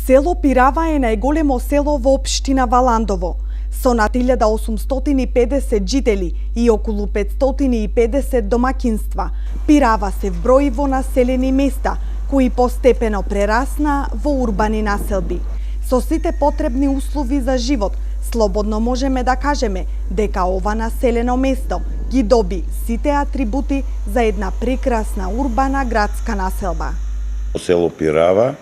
Село Пирава е најголемо село во општина Валандово, со над 1850 жители и околу 550 домакинства. Пирава се вброи во населени места, кои постепено прерасна во урбани населби. Со сите потребни услови за живот, слободно можеме да кажеме дека ова населено место ги доби сите атрибути за една прекрасна урбана градска населба. Село Пирава,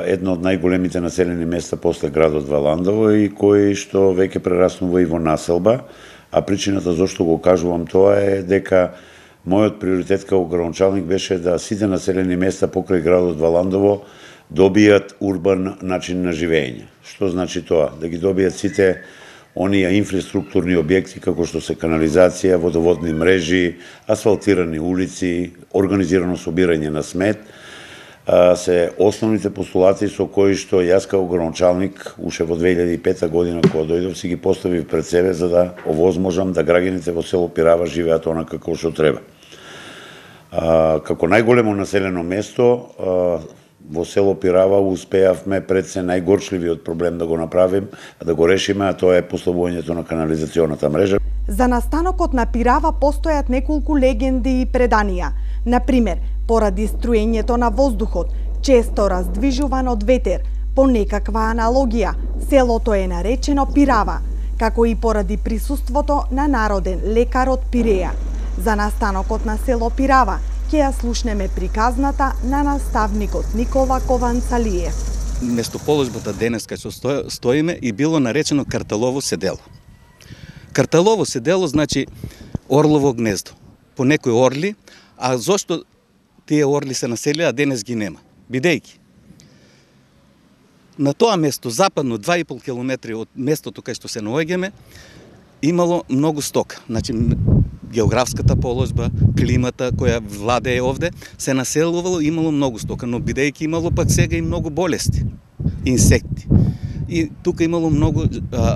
едно од најголемите населени места после градот Валандово и кој што веќе прераснува и во населба, а причината зашто го кажувам тоа е дека мојот приоритет како градоначалник беше да сите населени места покрај градот Валандово добијат урбан начин на живење. Што значи тоа? Да ги добијат сите оние инфраструктурни објекти како што се канализација, водоводни мрежи, асфалтирани улици, организирано собирање на смет, се основните постулати со кои што јас како градоначалник уште во 2005 година кога дојдов си ги поставив пред себе за да овозможам да граѓаните во село Пирава живеат онака како што треба. Како најголемо населено место во село Пирава успеавме пред се најгорчливиот проблем да го направим, да го решиме, а тоа е поставувањето на канализационата мрежа. За настанокот на Пирава постојат неколку легенди и преданија. Например, поради струењето на воздухот, често раздвижуван од ветер, по некаква аналогија, селото е наречено Пирава, како и поради присуството на народен лекар од Пиреја. За настанокот на село Пирава ќе ја слушнеме приказната на наставникот Никола Кованцалиев. Местоположбата денес кај што стоиме и било наречено Карталово седело. Карталово седело значи орлово гнездо. По некои орли, а зошто тие орли се населија, а денес ги нема? Бидејќи на тоа место, западно 2,5 километри од местото кај што се наоѓаме, имало многу стока. Значи, географската положба, климата која владее овде, се населувало, имало многу стока, но бидејќи имало пак сега и многу болести, инсекти. И тука имало многу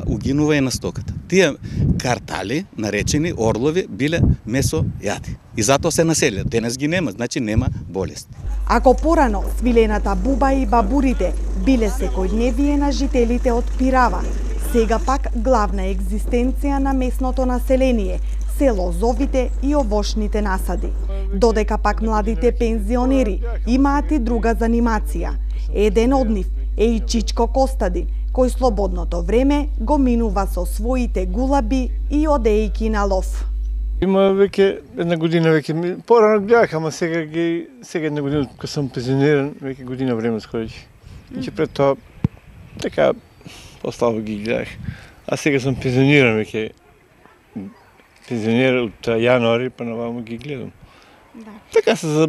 угинување на стоката. Тие картали, наречени орлови, биле месојади. И затоа се населија. Денес ги нема, значи нема болести. Ако порано свилената буба и бабурите биле секојдневие на жителите од Пирава, сега пак главна екзистенција на местното население се лозовите и овошните насади. Додека пак младите пензионери имаат и друга занимација. Еден од нив е и Чичко Костадин, кој слободното време го минува со своите гулаби и одејки на лов. Има веќе една година веќе, порано бях, ама сега една година кога сум пензиониран, веќе година време сходи. Значи пред тоа така послабо ги гледах. А сега сум пензиониран веќе. Пензионер од јануари па наваму ги гледам. Да. Така се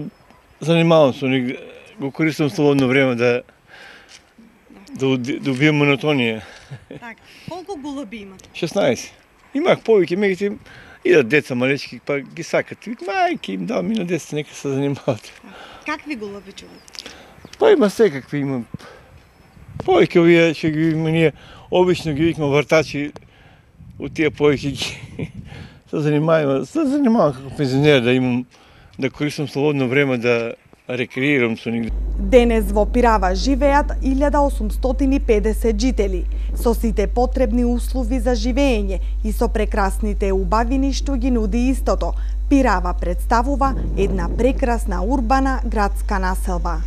занимавам со них, го користам слободно време да убием монотонија. Так, колку гулаби имате? 16. Имах повеќе, меѓутоа идат деца малечки, па ги сакат. Мајки им дам и на деца, нека се занимават. Какви гулаби чувате? Па има секакви, има повеќе овие што ги има ние, обично ги викаме вртачи, од тие повеќе ги се занимавам како пензионер да имам, да користам слободно време да рекреирам со нив. Денес во Пирава живеат 1850 жители, со сите потребни услови за живење и со прекрасните убавини што ги нуди истото. Пирава представува една прекрасна урбана градска населба.